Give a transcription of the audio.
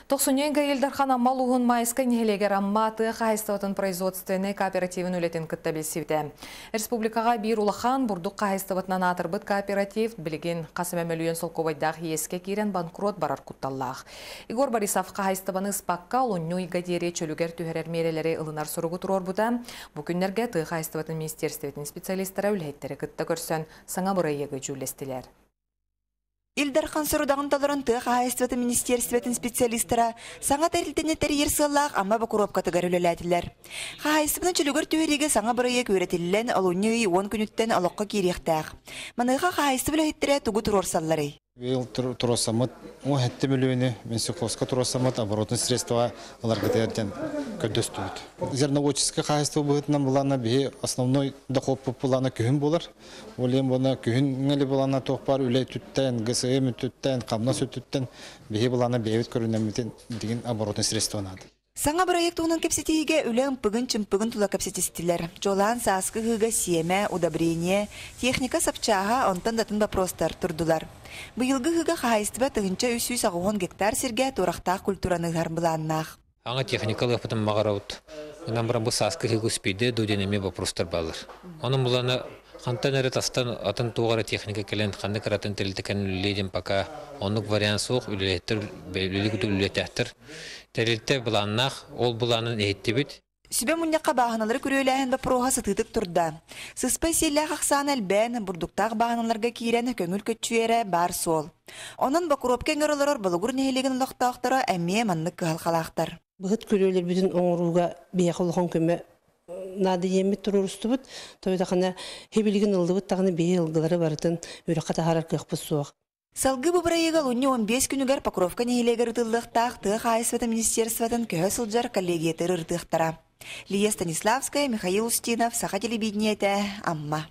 Тоқсуненга Елдархан аммал уғын майыска нехелегер амма тыға қайыстығытын производственный кооперативін үлетін күтті білсівді. Республикаға бір улахан бұрдық қайыстығытынан атырбыт кооператив білген қасым әмелуен солковайдақ еске керен банкрот барар құтталлақ. Игор Борисов қайыстығыны спаққа олынну игадері чөлігер түхерер мерелері ылынар сұрығы тұрор бұда. Бүкіндерге тыға қайыстығытын министерстветінің специалистері үлхеттері күтті көрсен саңа бұрай егі жүлестілер. Илдархан сұрудағын талырын тұқ айыстыты министерстветін специалистера саңа тәрілтіне тәрер сыллақ амма бақырып катығар өлеләділер. Қайыстыбының чүлігір түйерегі саңа бұрайы көретілілен алуыны 10 күніттен алыққа керектәқ. Маныға қайыстыбыл әйттірі тұғы тұрор саллары. Бел туросамыт, о хетте миллионы, менсикловска туросамыт, оборотные средства аларгатерден көдөстүт. Зерноводческое хозяйство будет нам была на бе основной доход популана күн болар. Олем бона күн ngeli булана тохпар үлей түттен, ГСМ түттен, камна сүттен бе булана бевит көрүнөмүтен деген оборотные средства надо. Саңа проект уның кепсетиге үлен пыгын чымпыгын тула кепсетистилер. Жолан саскы хыга семя, удобрение, техника сапчаға онтан датын вопростар турдулар. Быйылгы хыга хайыстыба тыгынча 300 гектар серге турақтақ культураныгар бұланнақ. Аңа техникалық потом мағараут. Нам брамбы саскы хыга успейді дөденеме вопростар балыр. Оның бұланы Хантан әрі атын туғары техника келен қанды қаратын тәлітікен үлелейден пока онық вариант соқ үлелеттір, үлелігіді үлелеттәқтір. Тәрелітті бұланнақ, ол бұланын әйетті бет. Сүбе мұннаққа бағаналары көреләйін бі проға сытытық тұрда. Сыспай селі қақсан әлбән бұрдықтақ бағаналарға кейрені көңіл көтчуері бар сол. Онын бақырып кәңірілер бұлығыр нәйлеген лоқтақтары әмме маннық қалқалақтар. Бұғыт көрелер бүтін оңыруға бейқылыған көмі нады емет тұрырысты бұд, тойда қана хебелеген ұлды бұд тағыны бей ұлғылары барытын өріққа тағарар көқпіз суақ. Салғы бұбырайығал ұнне 15 күнігер Покровка нейелегер ұтылдықтақ тұқ айысваты министерстватын көе сылжар коллегиятыр ұртықтара. Лия Станиславская, Михаил Устинов, Саха телевидениеті, Амма.